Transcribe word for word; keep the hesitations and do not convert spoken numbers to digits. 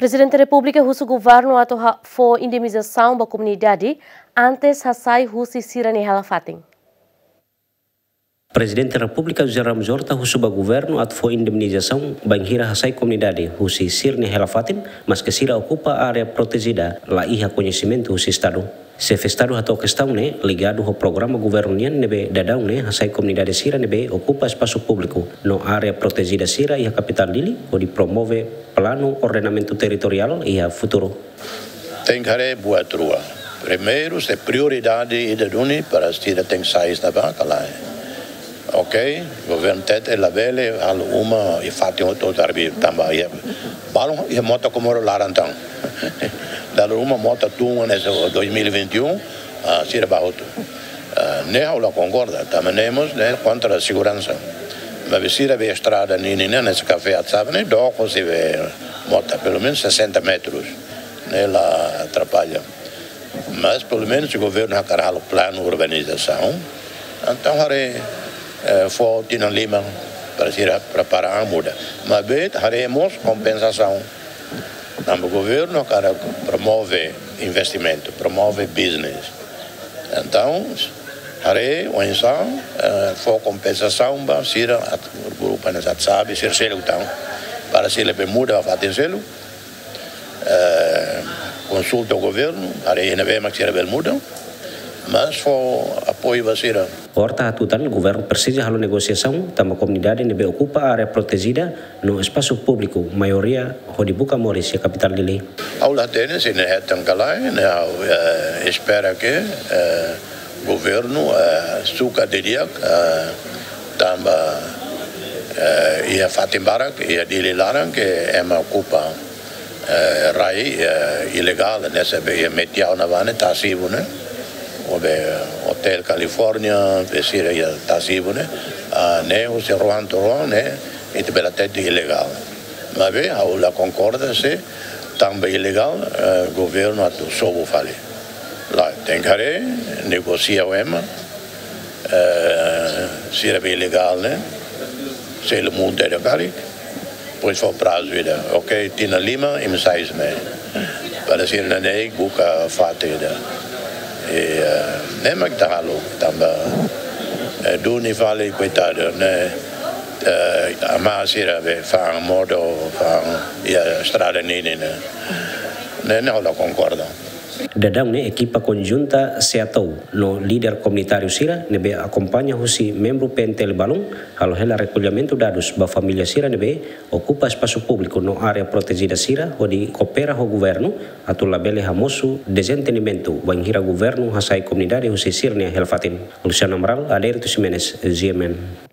Prezidente Repúblika husu governu atu ha-, fó indemnizasaun ba komunidade antes hasai husi sira-nia hela-fatin. Prezidente Repúblika José Ramos Horta husu ba governu atu fó indemnizasaun bainhira hasai komunidade husi sira-nia hela-fatin, maske sira okupa área protejida, la iha koñesimentu husi Estadu. Xefe Estadu hato'o kestaun ne'e ligadu ho programa governu nian ne'ebé daudaun ne'e hasai komunidade sira ne'ebé okupa espasu públiku no área protejida sira iha kapitál Dili, hodi promove planu ordenamentu territoriál iha futuru. Tenke haree buat rua. Primeiru, se prioridade ida duni para sira tenke sai iha ne'ebá ka lae. Ok, governu hatete labele halo uma iha fatin hotu-hotu, tanba iha balun iha mota Comoro laran tan. Dala ruma mota tun hanesan dois mil e vinte e um, ah, sira bá hotu. Ah, ne'e ha'u la konkorda, tanba ne'e mós ne'e kontra seguransa. Maibé sira be estrada ninin ne'e, hanesan kafé atu sabe ne'e, dook husi be mota, pelumenus sessenta metros. Ne'e la atrapalla. Mas pelumenus se governu hakarak halo planu urbanizasaun, entaun haree, eh, fó tinan lima para sira prepara an muda. Maibé haree mós kompensasaun. Tanba governu hakarak promove investimentu, promove business. Entaun haree oinsá, eh, fó kompensasaun ba sira atu, grupu hanesan atu sabe, sira seluk tan, para sira bele muda ba fatin seluk. Eh, konsulta ho governu, haree iha ne'ebé mak sira bele muda, mas fó apoiu ba sira. Horta hatutan governu presiza halo negosiasaun tanba komunidade ne'ebé okupa área protejida no espasu públiku maioria hodi buka moris iha kapitál Dili. Ha'u la hatene se ne'e hetan ka lae, ne'e ha'u, eh, espera ke, eh, governu, eh, sukat didi'ak, eh, tanba, eh, iha fatin barak iha Dili laran ke ema okupa, eh, rai, eh, ilegál, hanesan be iha Metiau ne'ebá ne'e, Tasibu ne'e, ou be Hotel California, be sira iha Tasibu ne'e, ah, ne'e husi rohan to'o rohan ne'e, ita bele hatete ilegál. Maibé ha'u la konkorda se tanba ilegál, eh, governu atu sobu fali. Lae, tenke haree, negosia ho ema, eh, sira be ilegál ne'e, selu multa ida karik, depois fó prazu ida. Ok, tinan lima, imi sai iha ne'e. Para sira neineik buka fatin ida. I, eh, ne'e mak ita halo, tanba, eh, duni fali koitadu, ne'e, eh, amá sira be fa'an modo, fa'an iha estrada ninin ne'e. Ne'e, ne'e ha'u la konkorda. Daudaun ne'e ekipa konjunta SEATOU no líder komunitáriu sira ne'ebé akompaña husi membru P N T L balun halo hela rekollimentu dadus ba família sira ne'ebé okupa espasu públiku no área protejida sira hodi koopera ho governu atu labele hamosu dezentendimentu bainhira governu hasai komunidade husi sira-nia hela-fatin. Luciano Amaral, Adérito Ximenes, G M N.